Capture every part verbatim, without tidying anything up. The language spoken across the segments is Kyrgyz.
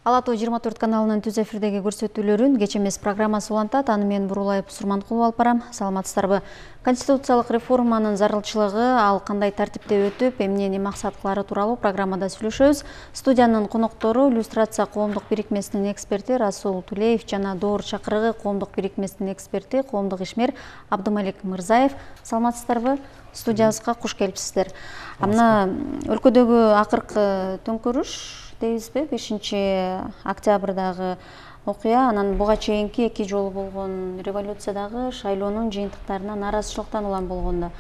Ала тоо жыйырма төрт каналынын түз эфирдеги көрсөтүүлөрүн кеч эмес программасы улантат. Аны мен Бурулаев Сурманкулова алып барам. Саламатсыздарбы? Конституциялык реформанын зарылчылыгы, ал кандай тартипте өтүп, эмнени максат кылары тууралуу программада сүйлөшөбүз. Студиянын коноктору иллюстрация коомдук бирикмесинин эксперти Расул Тулеев жана Доор чакырыгы коомдук бирикмесинин эксперти, коомдук ишмер Абдымалик Мырзаев. Саламатсыздарбы? Студиябызга куш келипсиздер. Мына өлкөдөгү акыркы төңкөрүш дейбизби, бешинчи октябрдагы окуя, анан буга чейинки эки жолу болгон революциядагы шайлоонун жыйынтыктарына нааразычылыктан улам болгондо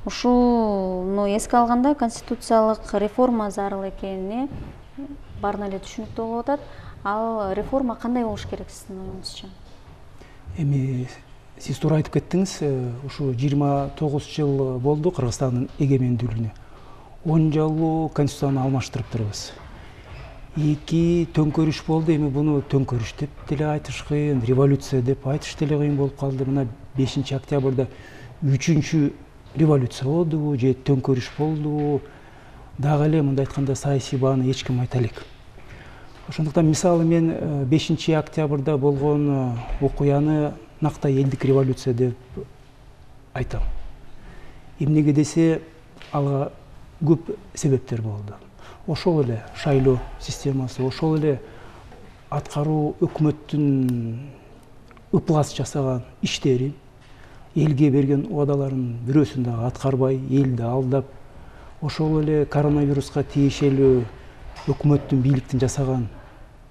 ушуну эске алганда конституциялык реформа зарыл экени баарына эле түшүнүктүү болуп атат. Ал реформа кандай болуш керек сиздин оюңузча? Эми сиз туура айтып кеттиңиз, ушу жыйырма тогуз жыл болду Кыргызстандын эгемендүүлүгүнө. он жолу конституцияны алмаштырып турбуз. Эки төңкөрүш болду, эми буну төңкөрүш деп деле айтыш кыйын, революция деп айтыш деле кыйын болуп калды. Мына бешинчи октябрда үчүнчү революция болду же төңкөрүш болду. Дагы эле мындай айтканда саясий бааны эч ким айта элек. Ошондуктан мисалы мен бешинчи октябрда болгон окуяны нактай элдик революция деп айтам. Эмнеге десе, ага көп себептер болду. Ошол эле шайлоо системасы, ошол эле аткаруу өкмөттүн ыплас жасаган иштери, элге берген убадаларын бирөөсүн дагы аткарбай, элди алдап, ошол эле коронавируска тиешелүү өкмөттүн, бийликтин жасаган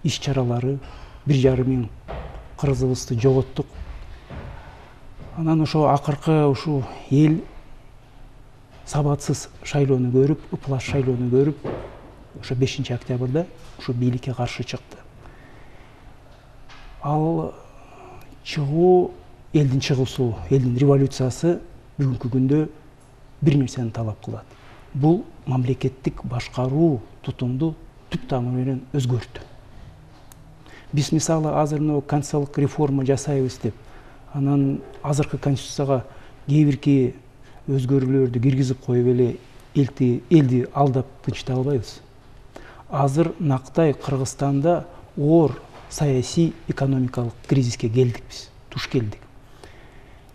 иш-чаралары, бир жарым миң кыргызыбызды жоготтук. Анан ошо акыркы ушу эл сабатсыз шайлоону көрүп, ыплас шайлоону көрүп, ошо бешинчи октябрда ушу бийликке каршы чыкты. Ал чыгуу, элдин чыгуусу, элдин революциясы бүгүнкү күндө бир нерсени талап кылат. Бул мамлекеттик башкаруу тутумду түп тамыры менен өзгөртүү. Биз мисалы азыр мына конституциялык реформа жасайбыз деп, анан азыркы конституцияга кээ бирки өзгөрүүлөрдү киргизип коюп эле элди элди алдап тынчыта албайбыз. Азыр нактай Кыргызстанда оор саясий экономикалык кризиске келдик биз, туш келдик.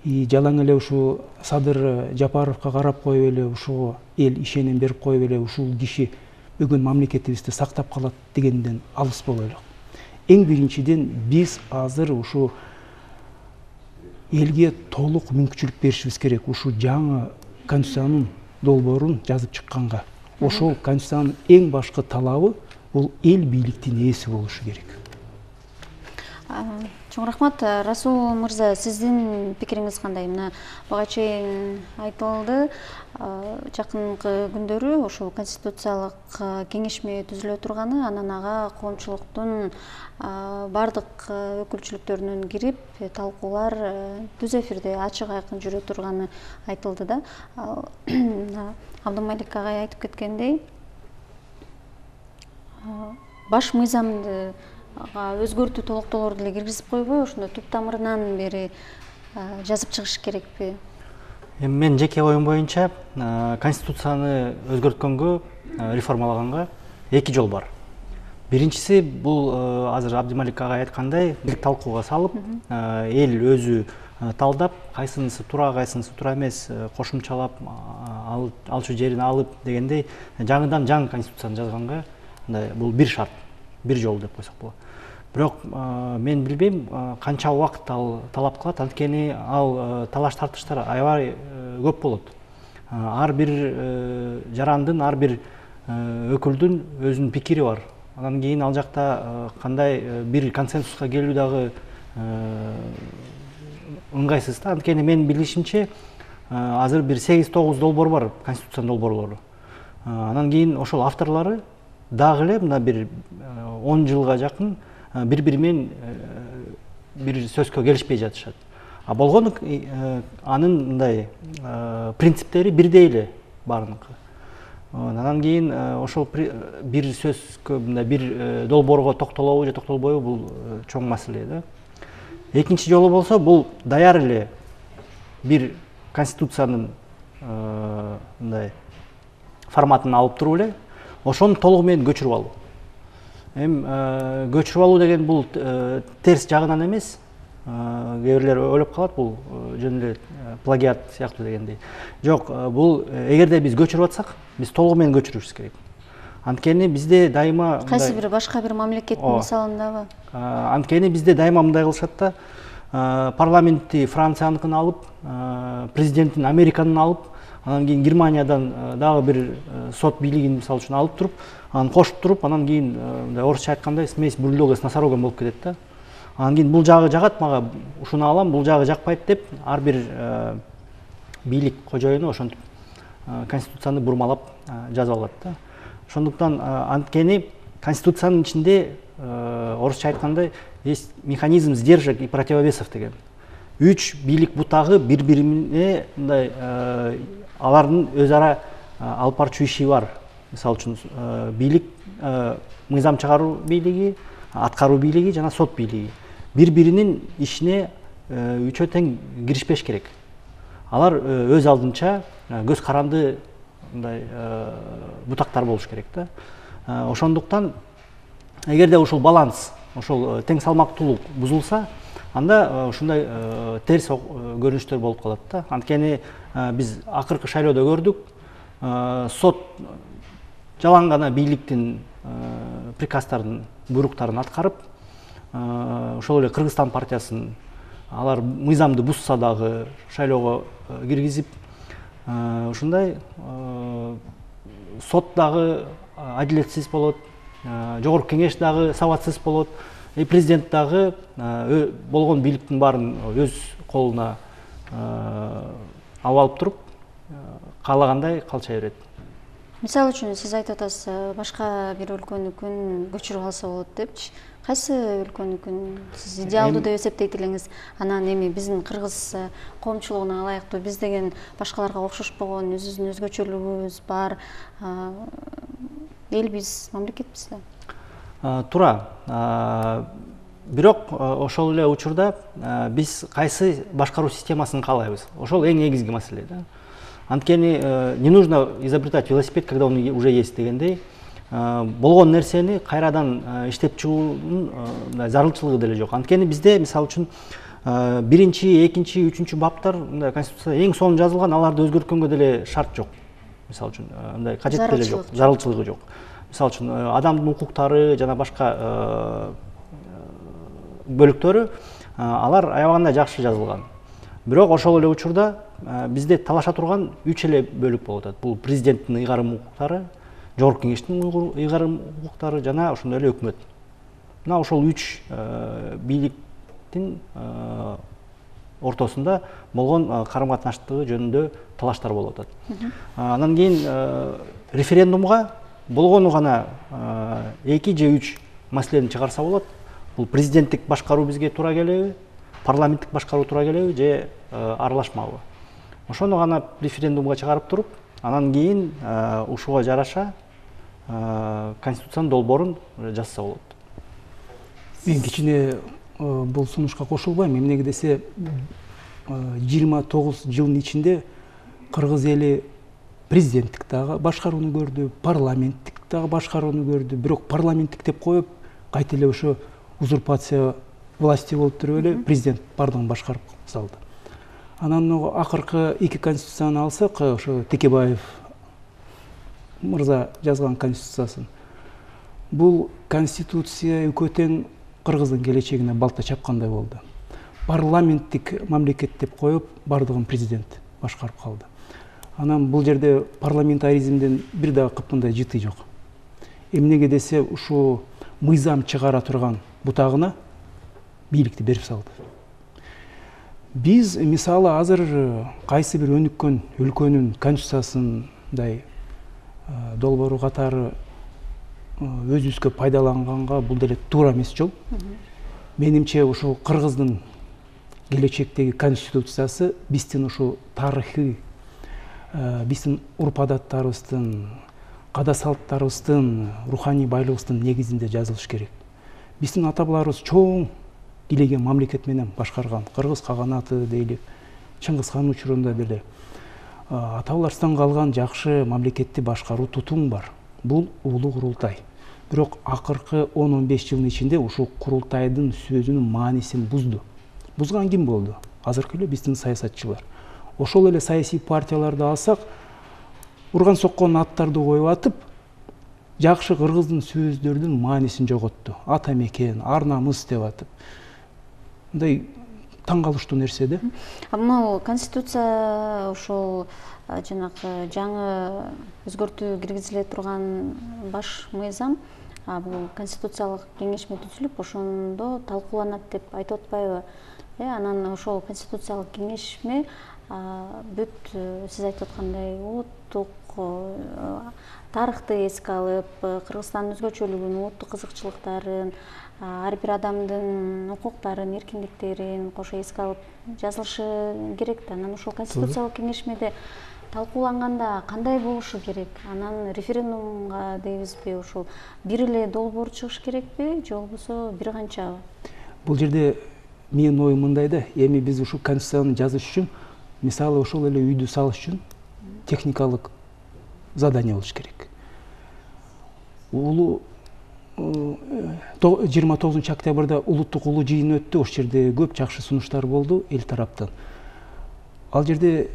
И жалаң эле ушу Садыр Жапаровго карап коюп эле ушуга эл ишеним берип коюп эле ушул киши бүгүн мамлекетибизди сактап калат дегенден алыс болойлук. Эң биринчиден биз азыр ушу элге толук мүмкүнчүлүк беришибиз керек. Ушу жаңы конституциянын долбоорун жазып чыкканга. Ошол конституциянын эң башкы талабы бул эл бийликтин ээси болушу керек. Чоң рахмат. Расул мырза, сиздин пикириңиз кандай? Мына буга чейин айтылды, жакынкы күндөрү ошол конституциялык кеңешме түзүлө турганы, анан ага коомчулуктун бардык өкүлчүлүктөрүнүн кирип талкуулар түз эфирде ачык айкын жүрө турганы айтылды да. Абдымалик агай айтып кеткендей, баш мыйзамды өзгөртүү толуктоолорду деле киргизип койбой, ошондо түп тамырынан бери жазып чыгыш керекпи? Эми мен жеке оюм боюнча конституцияны өзгөрткөнгө, реформалаганга эки жол бар. Биринчиси бул азыр Абдымалик агай айткандай, талкууга салып, эл өзү талдап, кайсынысы туура, кайсынысы туура эмес, кошумчалап, алчу жерин алып дегендей жаңыдан жаңы конституцияны жазганга бул бир шарт, бир жол деп койсок болот. Бирок мен билбейм канча убакыт ал талап кылат, анткени ал талаш тартыштар аябай көп болот. Ар бир жарандын, ар бир өкүлдүн өзүнүн пикири бар. Анан кийин ал жакта кандай бир консенсуска келүү дагы ыңгайсыз да. Анткени менин билишимче азыр бир сегиз тогуз долбоор бар, конституциянын долбоорлору. Анан кийин ошол авторлору дагы эле мына бир он жылга жакын бири-бири менен бир сөзгө келишпей жатышат. А болгону анын мындай принциптери бирдей эле баарыныкы. Анан кийин ошол бир сөзгө мындай бир долбоорго токтолобу же токтолбойбу бул чоң маселе да. Экинчи жолу болсо бул даяр эле бир конституциянын мындай форматын алып туруп эле ошону толугу менен көчүрүп алуу. Эми көчүрүп алуу деген бул терс жагынан эмес. Кээ бирлер ойлоп калат бул жөн эле плагиат сыяктуу дегендей. Жок, бул эгерде биз көчүрүп атсак, биз толугу менен көчүрүшүбүз керек. Анткени бизде дайыма кайсы бир башка бир мамлекеттин мисалындабы? Анткени бизде дайыма мындай кылышат да, парламентти Францияныкын алып, президентин Американын алып, анан кийин Германиядан дагы бир сот бийлигин мисалы үчүн алып туруп, анан кошуп туруп, анан кийин мындай орусча айткандай смесь бульдога с носорогом болуп кетет да. Анан кийин бул жагы жагат мага, ушуну алам, бул жагы жакпайт деп ар бир бийлик кожоюну ошентип конституцияны бурмалап жазып алат да. Ошондуктан анткени конституциянын ичинде орусча айткандай есть механизм сдержек и противовесов деген. Үч бийлик бутагы бири-бирине мындай алардын өз ара алып барчу иши бар. Мисалы үчүн бийлик, мыйзам чыгаруу бийлиги, аткаруу бийлиги жана сот бийлиги бири-биринин ишине үчөө тең киришпеш керек. Алар өз алдынча көз каранды мындай бутактар болуш керек да. Ошондуктан эгерде ушул баланс, ошол тең салмактуулук бузулса, анда ушундай терс көрүнүштөр болуп калат да. Анткени биз акыркы шайлоодо көрдүк, сот жалаң гана бийликтин приказдарын, буйруктарын аткарып, ошол эле Кыргызстан партиясын алар мыйзамды бузса дагы шайлоого киргизип, ушундай сот дагы адилетсиз болот, жогорку кеңеш дагы сабатсыз болот, и президент дагы болгон бийликтин баарын өз колуна алып алып туруп, каалагандай калча берет. Мисалы үчүн сиз айтып атасыз, башка бир өлкөнүкүн көчүрүп алса болот депчи. Кайсы өлкөнүкүн сиз идеалдуу деп эсептейт элеңиз? Анан эми биздин кыргыз коомчулугуна ылайыктуу, биз деген башкаларга окшошпогон өзүбүздүн өзгөчөлүгүбүз бар элбиз, мамлекетпиз да. Туура. Бирок ошол эле учурда биз кайсы башкаруу системасын каалайбыз? Ошол эң негизги маселе да. Анткени не нужно изобретать велосипед, когда он уже есть дегендей, болгон нерсени кайрадан иштеп чыгуунун зарылчылыгы деле жок. Анткени бизде мисалы үчүн биринчи, экинчи, үчүнчү баптар мындай конституцияда эң сонун жазылган, аларды өзгөрткөнгө деле шарт жок. Мисалы үчүн мындай кажет деле жок, зарылчылыгы жок. Мисалы үчүн адамдын укуктары жана башка бөлүктөрү алар аябаганда жакшы жазылган. Бирок ошол эле учурда бизде талаша турган үч эле бөлүк болуп атат. Бул президенттин ыйгарым укуктары, жогорку кеңештин ыйгарым укуктары жана ошондой эле өкмөт. Мына ошол үч бийликтин ортосунда болгон карым-катнаштыгы жөнүндө талаштар болуп атат. Анан кийин референдумга болгону гана эки же үч маселени чыгарса болот. Бул президенттик башкаруу бизге туура келеби, парламенттик башкаруу туура келеби же аралашмабы. Ошону гана референдумга чыгарып туруп, анан кийин ушуга жараша конституциянын долбоорун жазса болот. Мен кичине бул сунушка кошулбайм. Эмнеге десе, жыйырма тогуз жылдын ичинде кыргыз эли президенттик дагы башкарууну көрдү, парламенттик дагы башкарууну көрдү. Бирок парламенттик деп коюп, кайта эле ошо узурпация власти болуп туруп эле президент бардыгын башкарып салды. Анан акыркы эки конституцияны алсак, ошо Текебаев мырза жазган конституциясын. Бул конституция экөө тең Кыргыздын келечегине балта чапкандай болду. Парламенттик мамлекет деп коюп, бардыгын президент башкарып калды. Анан бул жерде парламентаризмден бир дагы кыпкандай жыты жок. Эмнеге десе, ушу мыйзам чыгара турган бутагына бийликти берип салды. Биз мисалы азыр кайсы бир өнүккөн өлкөнүн конституциясындай долбоору катары өзүбүзгө пайдаланганга бул деле туура эмес жол. Менимче ушул Кыргыздын келечектеги конституциясы биздин ушу тарыхый, биздин урп-адаттарыбыздын, када салттарыбыздын, руханий байлыгыбыздын негизинде жазылыш керек. Биздин ата-бабаларыбыз чоң илеген мамлекет менен башкарган. Кыргыз каганаты дейлик, Чыңгыз хан учурунда деле ата-бабаларыбыздан калган жакшы мамлекетти башкаруу тутум бар. Бул улуу курултай. бирок акыркы он он беш жылдын ичинде ушул курултайдын сөзүнүн маанисин бузду. Бузган ким болду? Азыркы эле биздин саясатчылар. Ошол эле саясий партияларды алсак, урган соккон аттарды коюп атып, жакшы кыргыздын сөздөрдүн маанисин жоготту. Ата мекен, ар намыс деп атып. Мындай таң калыштуу нерсе да. Могу конституция ошол жанагы жаңы өзгөртүү киргизиле турган баш мыйзам бул конституциялык кеңешме түзүлүп, ошондо талкууланат деп айтып атпайбы? Э, анан ошол конституциялык кеңешме бүт сиз айтып аткандай улуттук тарыхты эске алып, Кыргызстандын өзгөчөлүгүн, улуттук кызыкчылыктарын, ар бир адамдын укуктарын, эркиндиктерин кошо эске алып жазылышы керек да. Анан ошол конституциялык кеңешмеде талкууланганда кандай болушу керек? Анан референдумга дейбизби, ошол бир эле долбоор чыгыш керекпи, же болбосо бир канчабы? Бул жерде менин оюм мындай да, эми биз ушул конституцияны жазыш үчүн, мисалы ошол эле үйдү салыш үчүн техникалык задание болуш керек. Улуу жыйырма тогузунчу октябрда улуттук улуу жыйын өттү, ошол жерде көп жакшы сунуштар болду эл тараптан. Ал жерде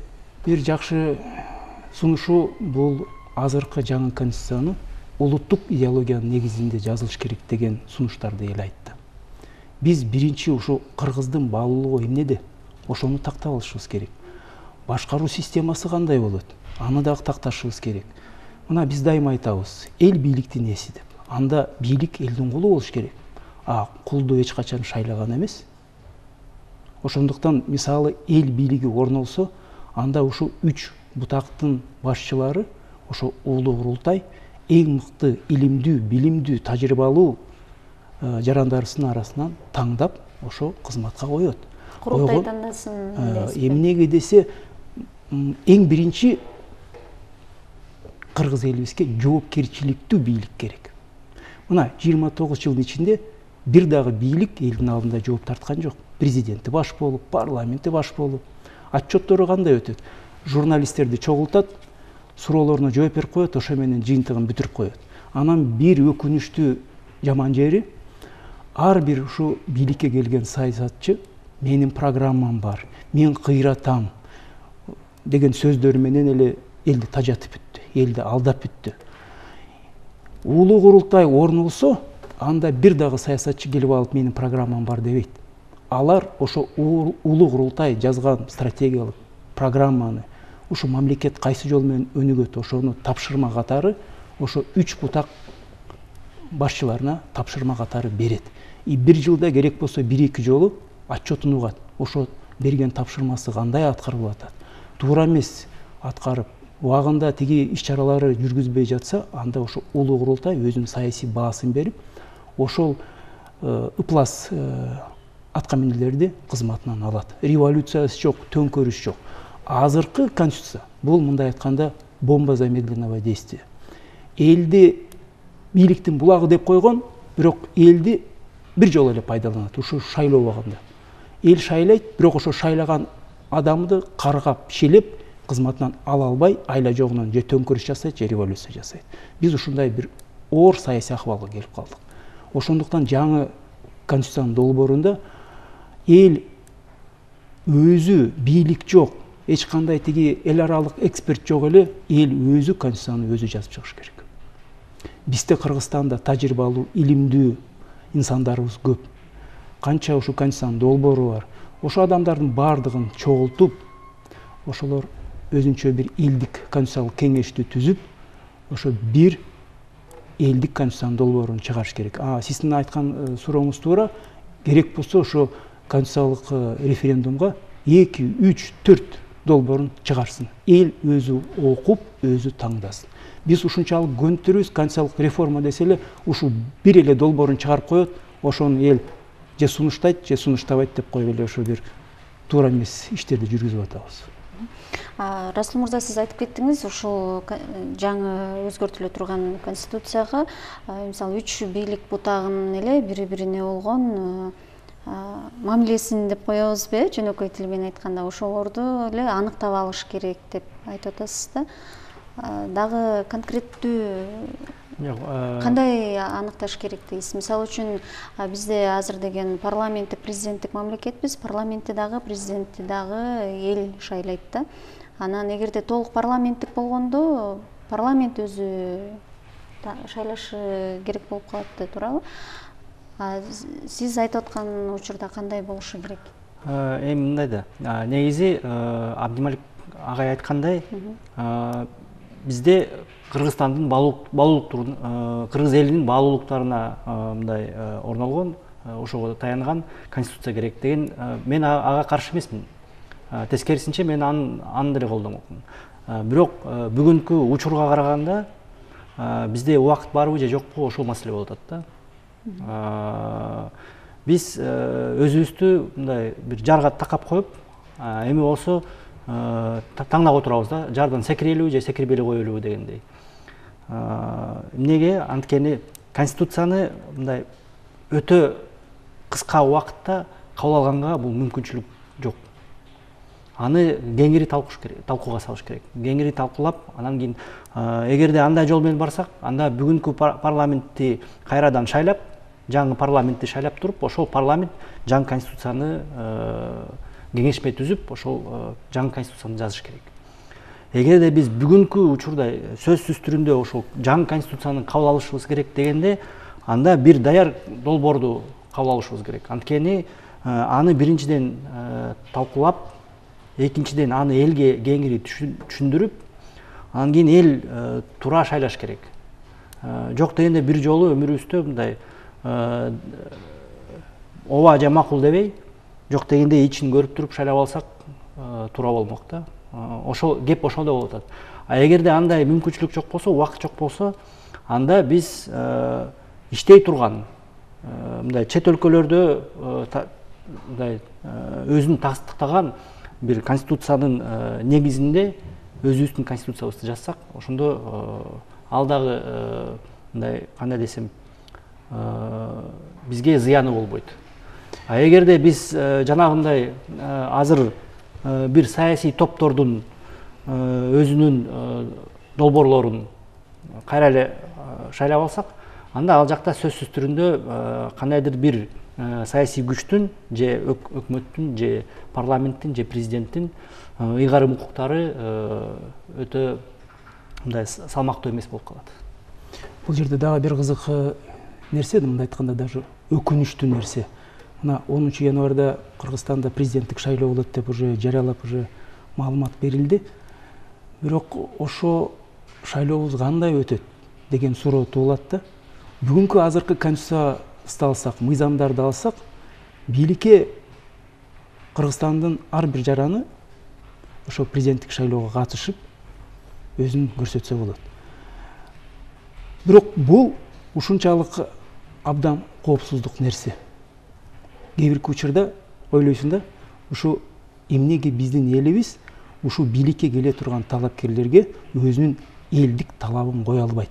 бир жакшы сунушу бул азыркы жаңы конституцияны улуттук идеологиянын негизинде жазылыш керек деген сунуштарды эл айтты. Биз биринчи ушул кыргыздын баалуулугу эмнеде? Ошону тактап алышыбыз керек. Башкаруу системасы кандай болот? Аны дагы такташыбыз керек. Мына биз дайыма айтабыз, эл бийликтин эси деп. Анда бийлик элдин кулу болуш керек. А кулду эч качан шайлаган эмес. Ошондуктан мисалы эл бийлиги орнолсо, анда ушул үч бутактын башчылары, ошо улуу курултай эң мыкты илимдүү, билимдүү, тажрыйбалуу жарандарысынын арасынан таңдап ошо кызматка коет. Курултай тандасын дейсизби? Эмнеге десе, эң биринчи кыргыз элибизге жоопкерчиликтүү бийлик керек. Мына жыйырма тогуз жылдын ичинде бир дагы бийлик элдин алдында жооп тарткан жок. Президенти баш болуп, парламенти баш болуп, отчеттору кандай өтөт? Журналисттерди чогултат, суроолоруна жооп берип коет, ошо менен жыйынтыгын бүтүрүп коет. Анан бир өкүнүчтүү жаман жери, ар бир ушу бийликке келген саясатчы менин программам бар, мен кыйратам деген сөздөрү менен эле элди тажатып бүттү, элди алдап бүттү. Улуу курултай орнолсо, анда бир дагы саясатчы келип алып менин программам бар дебейт. Алар ошо улуу курултай жазган стратегиялык программаны ушу мамлекет кайсы жол менен өнүгөт, ошону тапшырма катары ошо үч бутак башчыларына тапшырма катары берет. И бир жылда керек болсо бир эки жолу отчетун угат. Ошо берген тапшырмасы кандай аткарылып атат? Туура эмес аткарып, убагында тиги иш-чаралары жүргүзбөй жатса, анда ошо улуу курултай өзүнүн саясий баасын берип, ошол ыплас аткаминерлерди кызматынан алат. Революциясы жок, төңкөрүш жок. Азыркы конституция бул мындай айтканда бомба замедленного действия. Элди бийликтин булагы деп койгон, бирок элди бир жолу эле пайдаланат. Ушу шайлоо убагында. Эл шайлайт, бирок ошо шайлаган адамды каргап, шелеп, кызматынан ала албай, айла жогунан же төңкөрүш жасайт, же революция жасайт. Биз ушундай бир оор саясий акыбалга келип калдык. Ошондуктан жаңы конституциянын долбоорунда эл өзү бийлик жок, эч кандай тиги эл аралык эксперт жок эле, эл өзү конституцияны өзү жазып чыгыш керек. Бизде Кыргызстанда тажрыйбалуу, илимдүү инсандарыбыз көп. Канча ушу конституциянын долбоору бар. Ошо адамдардын баардыгын чогултуп, ошолор өзүнчө бир элдик конституциялык кеңешти түзүп, ошо бир элдик конституциянын долбоорун чыгарыш керек. А сиздин айткан сурооңуз туура. Керек болсо ошо конституциялык референдумга эки, үч, төрт долбоорун чыгарсын. Эл өзү окуп, өзү таңдасын. Биз ушунчалык көнтүрүбүз, конституциялык реформа десе эле ушул бир эле долбоорун чыгарып коет, ошону эл же сунуштайт, же сунуштабайт деп коюп эле ошо бир туура эмес иштерди жүргүзүп атабыз. Расул мырза, сиз айтып кеттиңиз, ушул жаңы өзгөртүлө турган конституцияга мисалы үч бийлик бутагынын эле бири-бирине болгон мамилесин деп коебузбу, жөнөкөй тил менен айтканда, ошолорду эле аныктап алыш керек деп айтып атасыз да. Дагы конкреттүү Жок, кандай аныкташ керек дейсиз? Мисалы үчүн бизде азыр деген парламенттик президенттик мамлекетпиз, парламентти дагы президентти дагы эл шайлайт да. Анан эгерде толук парламенттик болгондо парламент өзү шайлашы керек болуп калат да, туурабы? Сиз айтып аткан учурда кандай болушу керек? Эми мындай да, негизи Абдималик агай айткандай, бизде Кыргызстандын баалуулуктарын, кыргыз элинин баалуулуктарына мындай орнолгон, ошого таянган конституция керек деген, мен ага каршы эмесмин. Тескерисинче мен аны деле колдомокмун. Бирок бүгүнкү учурга караганда бизде убакыт барбы же жокпу, ошол маселе болуп атат да. Биз өзүбүздү мындай бир жарга такап коюп, эми болсо таңдап отурабыз да, жардан секирелүүбү же секирбей эле коелүүбү дегендей. Эмнеге? Анткени конституцияны мындай өтө кыска убакытта кабыл алганга бул мүмкүнчүлүк жок. Аны кеңири талкууга салыш керек. Кеңири талкуулап, анан кийин эгерде андай жол менен барсак, анда бүгүнкү парламентти кайрадан шайлап, жаңы парламентти шайлап туруп, ошол парламент жаңы конституцияны кеңешме түзүп, ошол жаңы конституцияны жазыш керек. Эгерде биз бүгүнкү учурда сөзсүз түрүндө ошол жаңы конституцияны кабыл алышыбыз керек дегенде, анда бир даяр долбоорду кабыл алышыбыз керек. Анткени аны биринчиден талкуулап, экинчиден аны элге кеңири түшүндүрүп, анан кийин эл туура шайлаш керек. Жок дегенде бир жолу өмүрүбүздө мындай ооба же макул дебей, жок дегенде ичин көрүп туруп шайлап алсак туура болмок да. Ошол кеп ошондо болуп атат. А эгерде андай мүмкүнчүлүк жок болсо, убакыт жок болсо, анда биз иштей турган мындай чет өлкөлөрдө мындай өзүн тастыктаган бир конституциянын негизинде өзүбүздүн конституциябызды жазсак, ошондо ал дагы мындай кандай десем, бизге зыяны болбойт. А эгерде биз жанагындай азыр бир саясий топтордун өзүнүн долбоорлорун кайра эле шайлап алсак, анда ал жакта сөзсүз түрүндө кандайдыр бир саясий күчтүн же өкмөттүн же парламенттин же президенттин ыйгарым укуктары өтө мындай салмактуу эмес болуп калат. Бул жерде дагы бир кызык нерсе, мындай айтканда даже өкүнүчтүү нерсе. Мына онунчу январда Кыргызстанда президенттик шайлоо болот деп уже жарыялап уже маалымат берилди. Бирок ошо шайлообуз кандай өтөт деген суроо туулат да. Бүгүнкү азыркы конституцияны алсак, мыйзамдарды алсак, бийликке Кыргызстандын ар бир жараны ошо президенттик шайлоого катышып өзүн көрсөтсө болот. Бирок бул ушунчалык абдан коопсуздук нерсе. Кээ бир учурда ойлойсуң да, ушу эмнеге биздин элибиз ушу бийликке келе турган талапкерлерге өзүнүн элдик талабын кое албайт.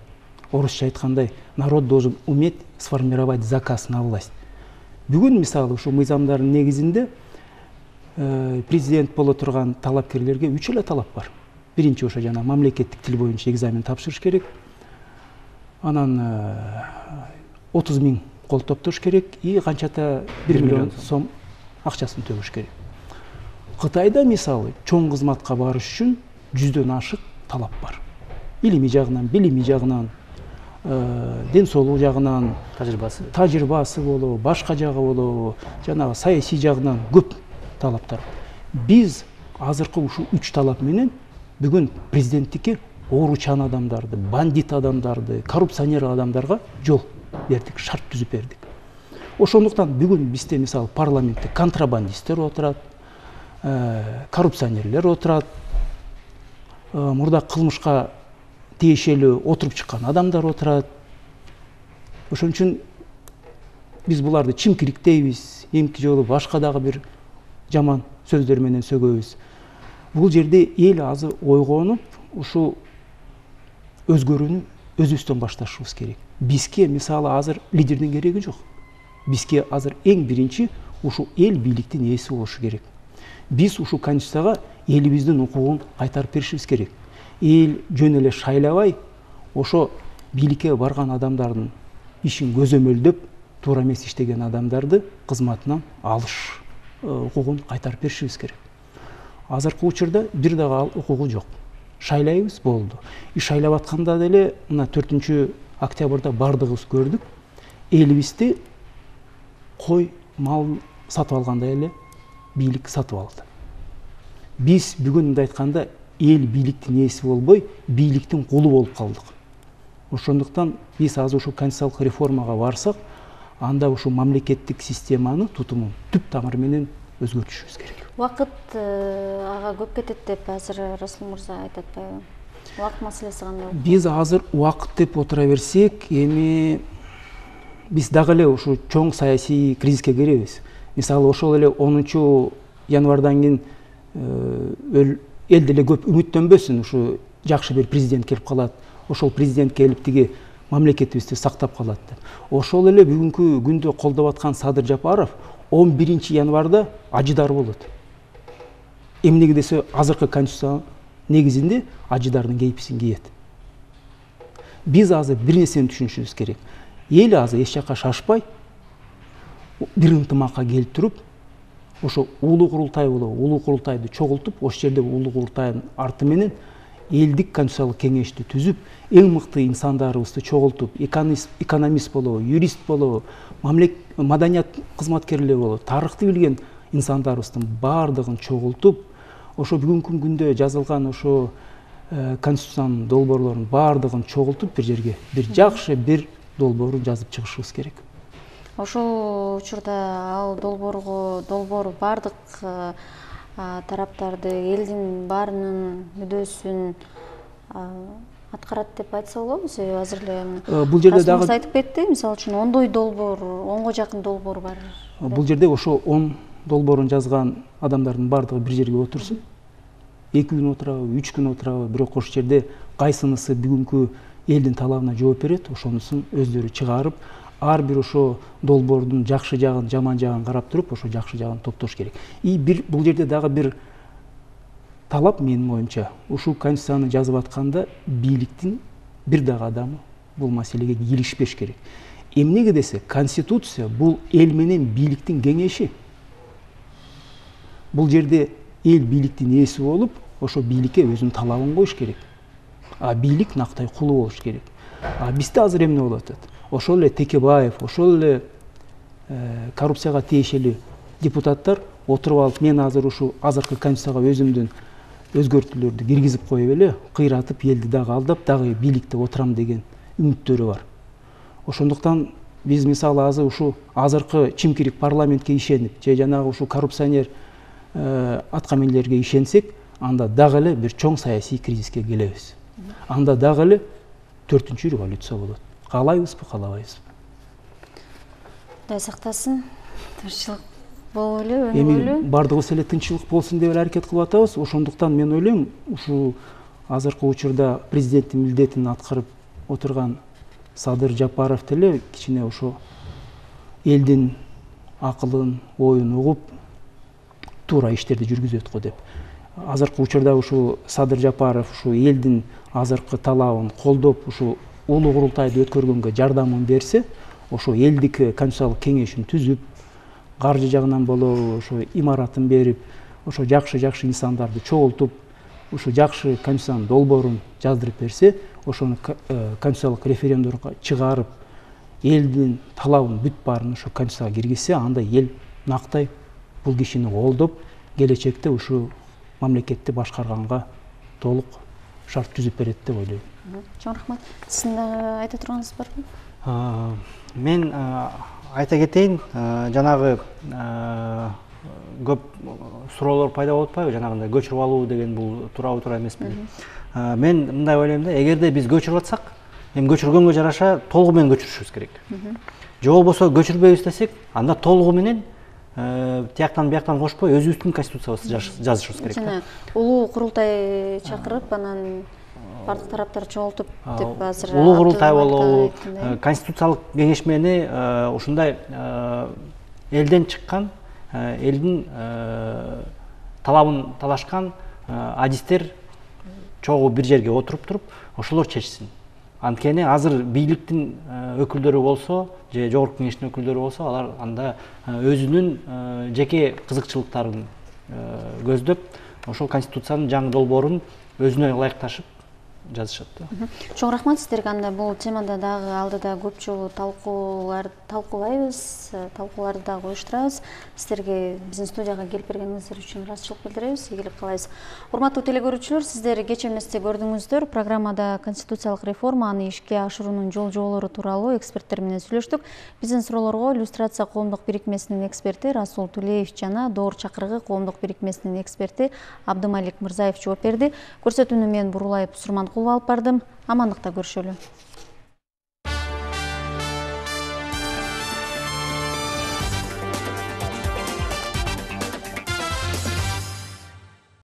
Орусча айткандай, народ должен уметь сформировать заказ на власть. Бүгүн мисалы ушу мыйзамдардын негизинде президент боло турган талапкерлерге үч эле талап бар. Биринчи ошо жана мамлекеттик тил боюнча экзамен тапшырыш керек. Анан отуз миң кол топтош керек и канчата бир миллион сом акчасын төгүш керек. Кытайда мисалы чоң кызматка барыш үчүн жүздөн ашык талап бар. Илимий жагынан, билимий жагынан, ден соолук жагынан, тажрыйбасы, тажрыйбасы болобу, башка жагы болобу, жанагы саясий жагынан көп талаптар. Биз азыркы ушу үч талап менен бүгүн президенттикке ооручан адамдарды, бандит адамдарды, коррупционер адамдарга жол бердик, шарт түзүп бердик. Ошондуктан бүгүн бизде мисалы парламентте контрабандисттер отурат, коррупционерлер отурат, мурда кылмышка тиешелүү отуруп чыккан адамдар отурат. Ошон үчүн биз буларды чимкириктейбиз, эмки жолу башка дагы бир жаман сөздөр менен сөгөбүз. Бул жерде эл азыр ойгонуп, ушу өзгөрүүнү өзүбүздөн башташыбыз керек. Бизге мисалы азыр лидердин кереги жок. Бизге азыр эң биринчи ушу эл бийликтин ээси болушу керек. Биз ушу конституцияга элибиздин укугун кайтарып беришибиз керек. Эл жөн эле шайлабай, ошо бийликке барган адамдардын ишин көзөмөлдөп туура эмес иштеген адамдарды кызматынан алыш укугун кайтарып беришибиз керек. Азыркы учурда бир дагы укугу жок. Шайлайбыз болду. И шайлап атканда деле мына төртүнчү октябрда бардыгыбыз көрдүк. Элибизди кой, мал сатып алгандай эле бийлик сатып алды. Биз бүгүн мындай айтканда эл бийликтин ээси болбой, бийликтин кулу болуп калдык. Ошондуктан биз азыр ушу конституциялык реформага барсак, анда ушу мамлекеттик системаны тутумун түп тамыры менен өзгөртүшүбүз керек. Убакыт ага көп кетет деп азыр Расул мырза айтып атпайбы? Убакыт маселеси кандай? Биз азыр убакыт деп отура берсек, эми биз дагы эле ушу чоң саясий кризиске киребиз. Мисалы, ошол эле онунчу январдан кийин эл деле көп үмүттөнбөсүн, ушу жакшы бир президент келип калат, ошол президент келип тиги мамлекетибизди сактап калат деп. Ошол эле бүгүнкү күндө колдоп аткан Садыр Жапаров он биринчи январда ажыдар болот. Эмнеге десе, азыркы конституция негизинде ажыдардын кейписин кийет. Биз азыр бир нерсени түшүнүшүбүз керек. Эл азыр эч жакка шашпай, бир ынтымакка келип туруп, ошо улуу курултай болобу, улуу курултайды чогултуп, ошол жерде улуу курултайдын арты менен элдик конституциялык кеңешти түзүп, эң мыкты инсандарыбызды чогултуп, экономист болобу, юрист болобу, маданият кызматкерлери болобу, тарыхты билген инсандарыбыздын баардыгын чогултуп, ошо бүгүнкү күндө жазылган ошо конституциянын долбоорлорунун баардыгын чогултуп бир жерге бир жакшы бир долбоорун жазып чыгышыбыз керек. Ошол учурда ал долбоорго долбоор бардык тараптарды, элдин баарынын мүдөөсүн аткарат деп айтса болобу? Себеби азыр эле бул жерде дагы айтып кетти, мисалы үчүн ондой долбоор, онго жакын долбоор бар. Бул жерде ошо он долбоорун жазган адамдардын баардыгы бир жерге отурсун. эки күн отурабы, үч күн отурабы, бирок ошол жерде кайсынысы бүгүнкү элдин талабына жооп берет, ошонусун өздөрү чыгарып, ар бир ошо долбоордун жакшы жагын, жаман жагын карап туруп, ошо жакшы жагын топтош керек. И бир бул жерде дагы бир талап менин оюмча, ушул конституцияны жазып атканда бийликтин бир дагы адамы бул маселеге кийлишпеш керек. Эмнеге десе, конституция бул эл менен бийликтин кеңеши. Бул жерде эл бийликтин ээси болуп, ошо бийликке өзүнүн талабын коюш керек. А бийлик нактай кулу болуш керек. А бизде азыр эмне болуп атат? Ошол эле Текебаев, ошол эле коррупцияга тиешелүү депутаттар отуруп алып, мен азыр ушу азыркы конституцияга өзүмдүн өзгөртүүлөрдү киргизип коюп эле, кыйратып, элди дагы алдап, дагы бийликте отурам деген үмүттөрү бар. Ошондуктан биз мисалы азыр ушу азыркы чимкирик парламентке ишенип, же жанагы ушу коррупционер аткаминерлерге ишенсек, анда дагы эле бир чоң саясий кризиске келебиз. Анда дагы эле төртүнчү революция болот. Каалайбызбы, каалабайбызбы? Кудай сактасын, тынччылык болуп эле, өнүгүп Эми эле. бардыгыбыз эле тынччылык болсун деп аракет кылып атабыз. Ошондуктан мен ойлойм, ушул азыркы учурда президенттин милдетин аткарып отурган Садыр Жапаров деле кичине ошо элдин акылын, оюн угуп, туура иштерди жүргүзөт го деп. Азыркы учурда ушул Садыр Жапаров ушу элдин азыркы талабын колдоп, ушу улуу курултайды өткөргөнгө жардамын берсе, ошо элдик конституциялык кеңешин түзүп, каржы жагынан болобу, ошо имаратын берип, ошо жакшы-жакшы инсандарды чогултуп, ушу жакшы конституциянын долбоорун жаздырып берсе, ошону конституциялык референдумга чыгарып, элдин талабын бүт баарын ошо конституцияга киргизсе, анда эл нактай бул кишини колдоп, келечекте ушу мамлекетти башкарганга толук шарт түзүп берет деп ойлойм. Чоң рахмат. Сиздин айта турганыңыз барбы? Мен айта кетейин, жанагы көп суроолор пайда болуп атпайбы, жанагындай көчүрүп алуу деген бул туурабы туура эмеспи? Мен мындай ойлойм да, эгерде биз көчүрүп атсак, эми көчүргөнгө жараша толугу менен көчүрүшүбүз керек. Же болбосо көчүрбөйбүз десек, анда толугу менен тияктан бияктан кошпой өзүбүздүн конституциябызды жазышыбыз керек. Жана улуу курултай чакырып, анан бардык тараптар чогултуп деп азыр улуу курултай болобу, конституциялык кеңешмени ушундай элден чыккан, элдин талабын талашкан адистер чогуу бир жерге отуруп туруп, ошолор чечсин. Анткени азыр бийликтин өкүлдөрү болсо же жогорку кеңештин өкүлдөрү болсо алар анда өзүнүн жеке кызыкчылыктарын көздөп ошол конституциянын жаңы долбоорун өзүнө ылайыкташып жазышат да. Чоң рахмат сиздерге. Анда бул темада дагы алдыда көп жолу талкуулар талкуулайбыз, талкууларды дагы уюштурабыз. Сиздерге биздин студияга келип бергениңиздер үчүн ыраазычылык билдиребиз, ийгилик каалайбыз. Урматтуу телекөрүүчүлөр, сиздер кечээ эместе көрдүңүздөр, программада конституциялык реформаны ишке ашыруунун жол жоболору тууралуу эксперттер менен сүйлөштүк. Биздин суроолорго иллюстрация коомдук бирикмесинин эксперти Расул Тулеев жана Доор чакырыгы коомдук бирикмесинин эксперти Абдымалик Мырзаев жооп берди. Көрсөтүүнү мен Бурулай Сурманкулова алып бардым. Амандыкта көрүшөлү.